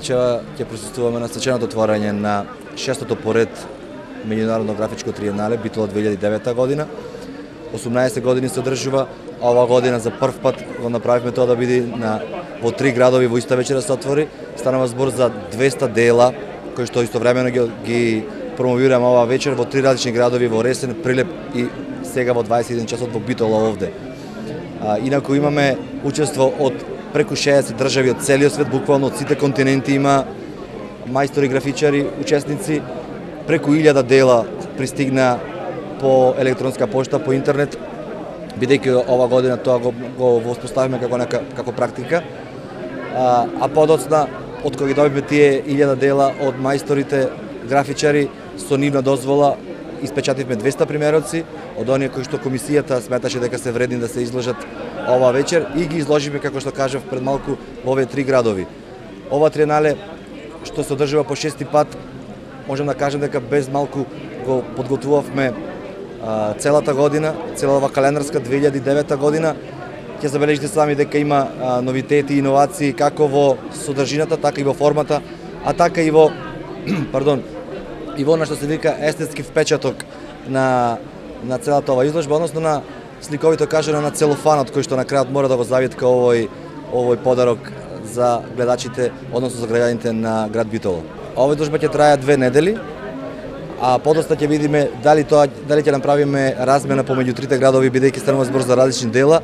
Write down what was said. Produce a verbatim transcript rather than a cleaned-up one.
Вечера ќе присуствуваме на свеченото отворање на шестото поред меѓународно графичко триенале Битола две илјади и девета година. осумнаесет години се одржува, а ова година за прв пат го направивме тоа да биде на во три градови во иста вечера се отвори. Станува збор за двеста дела кои што истовремено ги, ги промовираме оваа вечер во три различни градови во Ресен, Прилеп и сега во дваесет и еден часот во Битола овде. А, инаку имаме учество од преку шеесет држави од целиот свет, буквално од сите континенти има мајстори, графичари, учесници. Преку илјада дела пристигна по електронска пошта, по интернет, бидејќи ова година тоа го, го воспоставиме како нека, како практика. А, а подоцна, од кога ги добивме тие илјада дела од мајсторите, графичари, со нивна дозвола испечативме двеста примероци од оние кои што комисијата сметаше дека се вредни да се изложат оваа вечер и ги изложиме, како што кажав пред малку, во овие три градови. Ова триенале што се одржува по шести пат, можам да кажам дека без малку го подготвувавме а, целата година, цела ова календарска две илјади и девета година. Ќе забележите сами дека има а, новитети и иновации како во содржината, така и во формата, а така и во пардон, и во она што се вика естетски впечаток на на целата ова изложба, односно на сликовито кажано на целофанот кој што на крајот мора да го завитка овој овој подарок за гледачите, односно за граѓаните на град Битола. Оваа изложба ќе трае две недели, а подоста ќе видиме дали тоа дали ќе направиме размена помеѓу трите градови, бидејќи станува збор за различни дела